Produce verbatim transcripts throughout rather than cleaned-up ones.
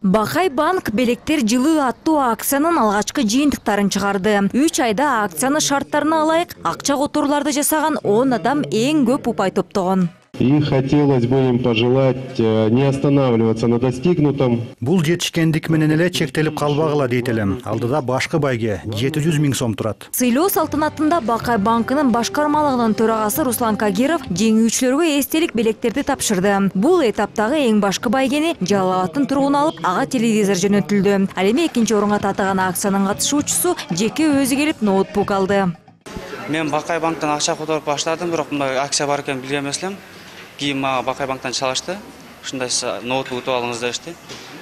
Бакай банк белектер жылы аттуу акциянын алгачкы жыйынтыктарын чыгарды. үч айда акциянын шарттарына ылайык акча которууларды жасаган он адам эң көп упай топтогон. И хотелось бы им пожелать не останавливаться на достигнутом. Бул жетишкендик менен эле чектелип калбагыла дейт элем. Алдыда башкы байге жети жүз миң сом турат. Сыйлоо салтанатында Бакай банкынын башкармалыгынын төрагасы Руслан Кагиров жеңүүчүлөргө эстелик белектерди тапшырды. Бул этаптагы эң башкы байгени Жалал Абадтын тургуну алып, ага телевизор жөнөтүлдү. Ал эми экинчи орунга татыган акциянын катышуучусу жеке өзү келип ноутбук алды. Мен Бакай банктан акча которуп баштадым, бирок мындай акция бар экенин билген эмес элем. Кийин мага Бакай банктан чалышты. Ушундай ноутбук утуп алыңыз дешти.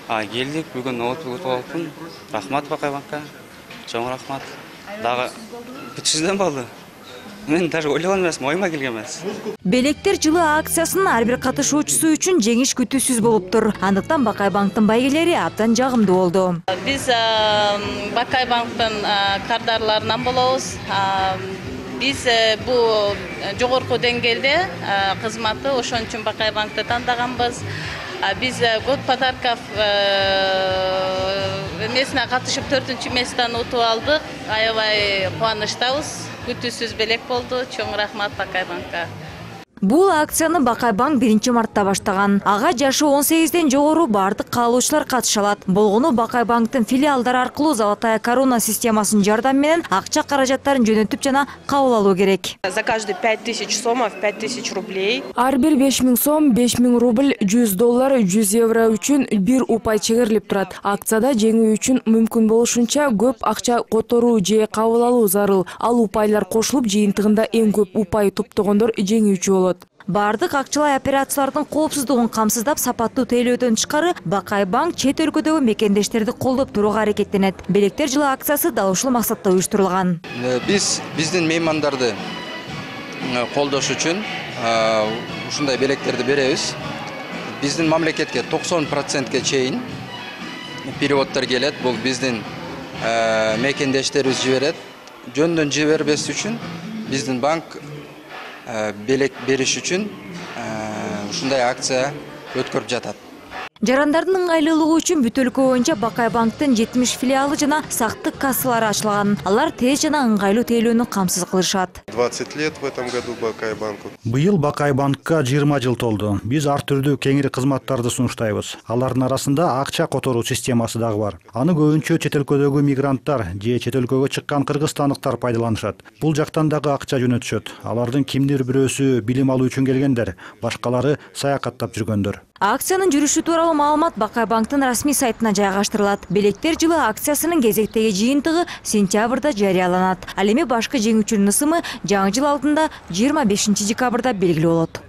А келдик, бүгүн ноутбук утуп алыпмын. Рахмат Бакай банкка. Чоң рахмат. Дагы үч жүздөн болду. Мен даже ойлогон эмесмин, оюма келген эмес. Белектер жылы акциясынын ар бир катышуучусу үчүн жеңиш күтүүсүз болуп тур. Андыктан Бакай банктын байгелери абдан жагымдуу болду. Биз Бакай банктын кардарларынан болобуз. Биз бул жогорку деңгээлде кызматы, ошон үчүн Бакай банкты тандаганбыз. Биз год подарков эмесине катышып төртүнчү месттен утуп алдык. Аябай кубанычтабыз. Күтүүсүз белек болду. Чоң рахмат Бакай банкка. Бул акцияны Бакай банк биринчи мартта баштаган. Ага жашы он сегизден жогору бардык каалоочулар катыша алат. Болгону Бакай банктын филиалдары аркылуу Золотая корона системасынын жардамы менен акча каражаттарын жөнөтүп жана кабыл алуу керек. За каждый пять тысяч сомов пять тысяч рублей. Ар бир беш миң сом, беш миң рубль, жүз доллар, жүз евро үчүн бир упай чыгарылып турат. Акцияда жеңүү үчүн мүмкүн болушунча көп акча которуу же кабыл алуу зарыл. Ал упайлар кошулуп жыйынтыгында эң көп упай топтогондор жеңүүчү болот. Бардык акчалай операциялардын коопсуздугун камсыздап, сапаттуу тейлөөдөн тышкары Бакай банк чет өлкөдөгү мекендештерди колдоп турууга аракеттенет. Белектер жылы акциясы дал ушул максатта уюштурулган. Биз биздин меймандарды колдош үчүн ушундай белектерди беребиз. Биздин мамлекетке токсон процентке чейин переводдор келет. Бул биздин мекендештерибиз жиберет. Жөндөн жибербес үчүн биздин банк белек бериш үчүн ушундай акция өткөрүп жатат. Жарандардын ыңгайлуулугу үчүн бүт өлкө боюнча Бакай банктын жетимиш филиалы жана сактык кассалары ачылган. Алар тез жана ыңгайлуу тейлөөнү камсыз кылышат. двадцать лет в этом году Бакай банку. Быйыл Бакай банкка жыйырма жыл толду. Биз ар түрдүү кеңири кызматтарды сунуштайбыз. Алардын арасында акча которуу системасы дагы бар. Аны көбүнчө чет өлкөдөгү мигранттар же чет өлкөгө чыккан кыргызстандыктар пайдаланышат. Бул жактан дагы акча жөнөтүшөт. Алардын кимдир бирөөсү билим алуу үчүн келгендер, башкалары саякаттап жүргөндөр. Акциянын жүрүшү тууралуу маалымат Бакай банктын расмий сайтына жайгаштырылат. Белектер жылы акциясынын кезектеги жыйынтыгы сентябрда жарыяланат. Ал эми башкы жеңүүчүнүн ысымы жаңы жыл алдында жыйырма бешинчи декабрда белгилүү болот.